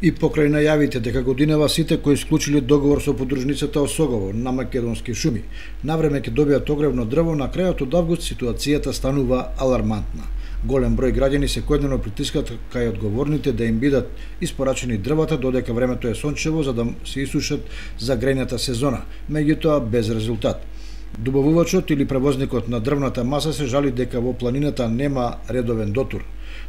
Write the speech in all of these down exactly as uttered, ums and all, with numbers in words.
И покрај најавите дека годинава сите кои склучили договор со подружницата Осогово на Македонски шуми навреме ќе добијат огревно дрво, на крајот од август ситуацијата станува алармантна. Голем број граѓани секојдневно притискаат кај одговорните да им бидат испорачени дрвата додека времето е сончево за да се исушат за грејната сезона, меѓутоа без резултат. Добавувачот или превозникот на дрвната маса се жали дека во планината нема редовен дотур,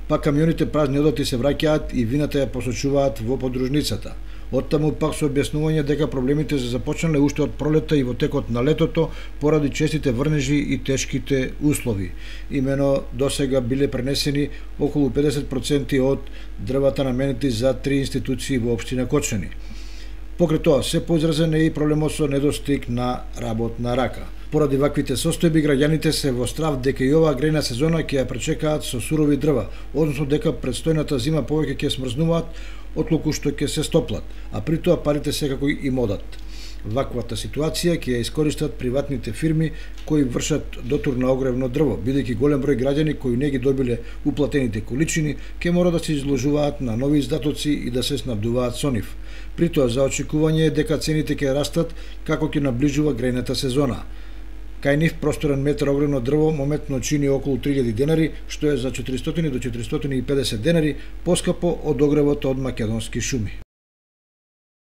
па камионите празни одоти се враќаат и вината ја посочуваат во подружницата. Оттаму пак со објаснување дека проблемите се започнале уште од пролетта и во текот на летото поради честите врнежи и тешките услови. Имено досега биле пренесени околу педесет проценти од дрвата наменети за три институции во општина Кочани. Покрај тоа, се поизразен е и проблемот со недостиг на работна рака. Поради ваквите состојби, граѓаните се во страв дека и оваа грејна сезона ќе ја пречекаат со сурови дрва, односно дека предстојната зима повеќе ќе смрзнуваат отлуку што ќе се стоплат, а при тоа парите секако им одат. Ваквата ситуација ќе ја искористат приватните фирми кои вршат дотур на огревно дрво, бидејќи голем број граѓани кои не ги добиле уплатените количини ќе мора да се изложуваат на нови издатоци и да се снабдуваат со нив. При тоа за очекување е дека цените ќе растат како ќе наближува грејната сезона. Кај нив просторен метар огревно дрво моментно чини околу три илјади денари, што е за четиристотини до четиристотини и педесет денари поскапо од огревот од Македонски шуми.